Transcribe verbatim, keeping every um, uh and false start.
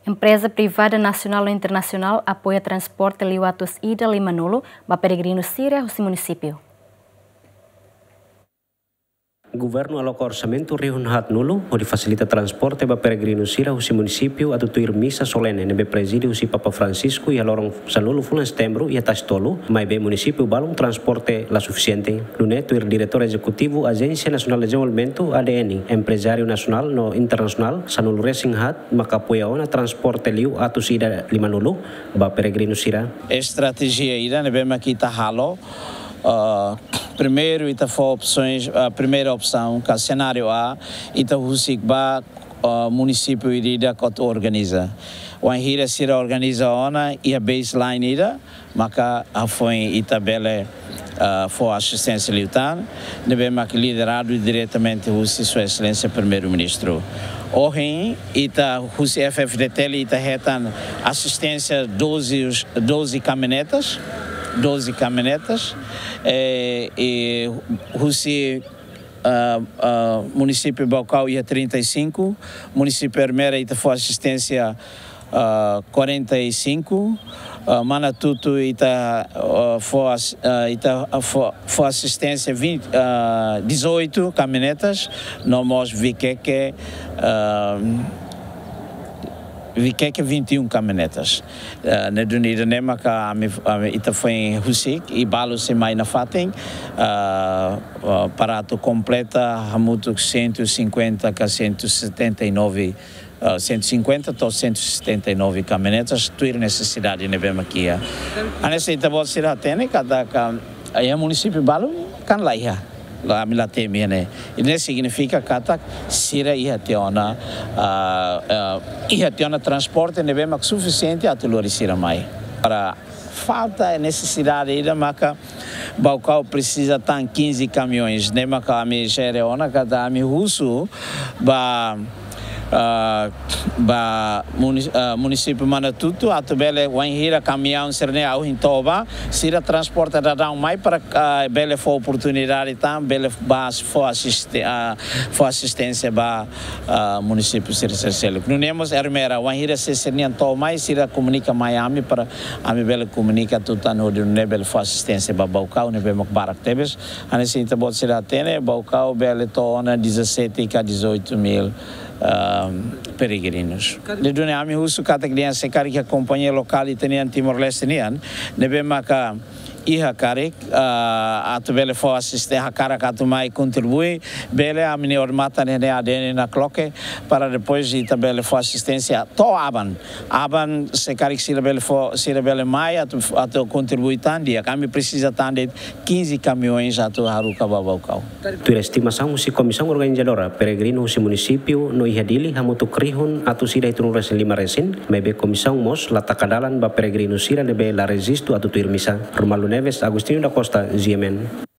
Empreza privada nasionál no internasionál apoia transporte liu atus ida limanulu ba peregrinu sira husi munisípiu. Governu aloka orsamentu rihun haatnulu hodi fasilita transporte ba peregrinu sira husi munisípiu atu tuir misa solene ne'ebé prezide husi Papa Francisco iha loron sanulu fulan Setembru iha Tasi-Tolu, maibé munisípiu balun transporte la sufisiente. Nune'e tuir Diretór Ezekutivu Ajénsia Nasionál Dezenvolvimentu, A D N, emprezáriu nasionál no internasionál sanulu-resin-haat maka apoia ona transporte liu atus ida limanulu ba peregrinu sira. Estratéjia ida ne'ebé mak ita halo, ah, primeiru ita fó opsoens, ah, primeira opsaun, ka senáriu A, ita husik ba, ah, munisípiu ida-idak atu organiza. Wainhira sira organiza ona iha baseline ida, maka hafoin ita bele, ah, fó asisténsia liután, ne'ebé mak lideradu diretamente husi Sua Exelénsia Primeiru-Ministru. Ohin ita husi F F D T L ita hetan asisténsia doze, doze kamionetas, doze kamionetas, eh, i husi, ah, ah, munisípiu Baucau iha trinta e cinco, munisípiu Ermera ita fó asisténsia, ah, quarenta e cinco, ah, Manatuto ita, ah, fó as-, ah, ita, ah, fó, fó asisténsia vinte, ah, dezoito kamionetas, no mós Viqueque, ah, Viqueque vinte e um kamionetas. Ah, ne'e duni ida-ne'e maka ami, ami ita foin husik i balu sei mai nafatin, ah, ah, para atu kompleta hamutuk cento e cinquenta ka cento e setenta e nove, ah, cento e cinquenta to'o cento e setenta e nove kamionetas, tuir nesesidade ne'ebé mak iha. Hanesan ita-boot sira hatene katak iha munisípiu balu kan laiha. La, ami la temi ne'e. I ne'e signifika katak sira iha tiha ona, ah, ah, iha tiha ona transporte ne'ebé mak sufisiente atu lori sira mai. Para falta, nesesidade ida maka Baucau presiza tan quinze caminhões, ne'e maka ami jere ona katak ami husu ba, ah, ba muni-, ah, munisípiu Manatuto atu bele wainhira kamiaun sira-ne'e ohin to'o ba, sira transporta daudaun mai para, ah, bele fó oportunidade tan, bele ba fó asiste-, ah, fó asisténsia ba, ah, munisípiu sira, sira seluk. Nune'e mós Ermera, wainhira sira, sira-nian to'o mai, sira komunika mai ami para ami bele komunika tutan hodi nune'e bele fó asisténsia ba Baucau, ne'ebé mak barak tebes. Hanesan ita-boot sira hatene, Baucau bele to'o ona dezassete ka dezoito mil, ah, peregrinus. Ne'e duni ami husu katak dehan se karik iha kompañia lokál ita-nian Timor-Leste nian, ne'ebé maka iha karik, ah, atu bele fó asiste-, hakarak atu mai kontribui, bele ami-nia odamatan ne'e A D N nakloke, para depois ita bele fó asisténsia to'o aban. Aban se karik sira bele fó, sira bele mai atu, atu kontribui tan di'ak, ami presiza tan de'it quinze caminhões atu haruka ba Baucau. Tuir estimasaun husi komisaun organizadora, peregrinu husi munisípiu no iha Dili hamutuk rihun atus ida hitunulu-resin-lima resin, maibé komisaun mós la taka dalan ba peregrinu sira ne'ebé la rejistu atu tuir misa. Romualdo Neves, Agostinho da Costa, G M N.